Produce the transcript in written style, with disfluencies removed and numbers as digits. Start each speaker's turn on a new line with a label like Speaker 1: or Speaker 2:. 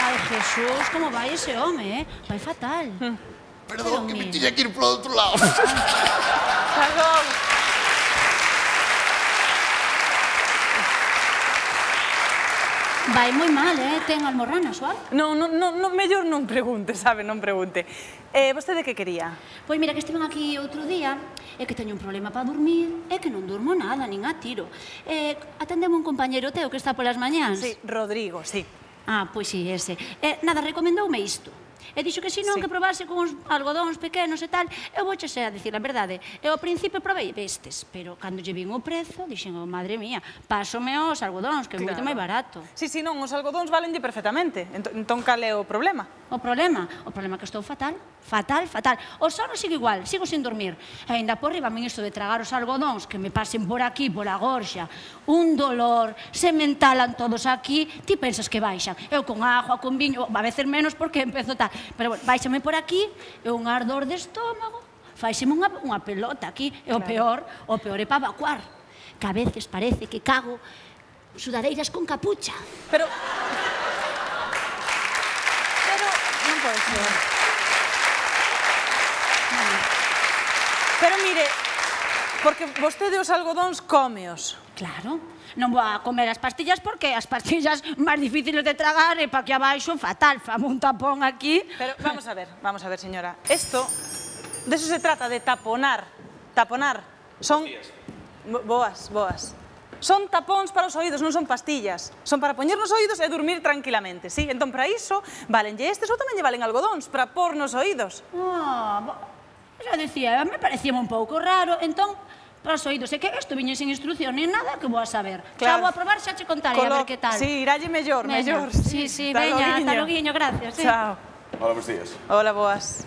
Speaker 1: Ai, Jesús, como vai ese home, vai fatal.
Speaker 2: Perdón, que me tiña que ir polo outro lado.
Speaker 3: Perdón.
Speaker 1: Vai moi mal, ten almorranas ou algo?
Speaker 3: Non, mellor non pregunte, sabe, non pregunte. Vostede que quería?
Speaker 1: Pois mira, que estiven aquí outro día, é que teño un problema para dormir, é que non durmo nada, nin a tiro. Atendeme un compañeiro teu que está polas mañáns.
Speaker 3: Sí, Rodrigo, sí.
Speaker 1: Ah, pois sí, ese. Nada, recomendoume isto. E dixo que senón que probase con uns algodóns pequenos e tal. Eu vouche a dicir a verdade. Eu ao principio provei bestes, pero cando lle vin o prezo, dixen, madre mía, pásome os algodóns, que é moito máis barato.
Speaker 3: Sí, non, os algodóns valenlle perfectamente. Entón, cal é o problema?
Speaker 1: O problema que estou fatal. Fatal. O sono sigo igual, sigo sin dormir. E ainda por riba, isto de tragar os algodóns que me pasen por aquí, pola gorxa, un dolor, se me entalan todos aquí, ti pensas que baixan. Eu con agua, con viño, a veces menos porque empezo tal. Pero, bueno, baixame por aquí, e un ardor de estómago, faixeme unha pelota aquí, e o peor é para evacuar. Que a veces parece que cago sudareiras con capucha.
Speaker 3: Pero non pode ser. Pero mire, porque vostede os algodóns cómeos.
Speaker 1: Claro, non vou a comer as pastillas porque as pastillas máis difíciles de tragar e pa aquí abaixo fatal, fame un tapón aquí.
Speaker 3: Pero vamos a ver, señora. Esto, de eso se trata, de taponar. Taponar. Son... Boas. Son tapóns para os oídos, non son pastillas. Son para poñer nos oídos e dormir tranquilamente, sí? Entón, para iso, valenlle estes ou tamén lle valen algodóns, para pôr nos oídos.
Speaker 1: Xa dicía, me parecía un pouco raro, entón, para os oídos, é que isto viñe sin instrucción, nin nada que vou a saber. Xa vou a probar, xa che contaré, a ver que tal.
Speaker 3: Sí, iralle mellor.
Speaker 1: Sí, veña, ata loguiño, gracias.
Speaker 3: Chao.
Speaker 2: Hola, bons días.
Speaker 3: Hola, boas.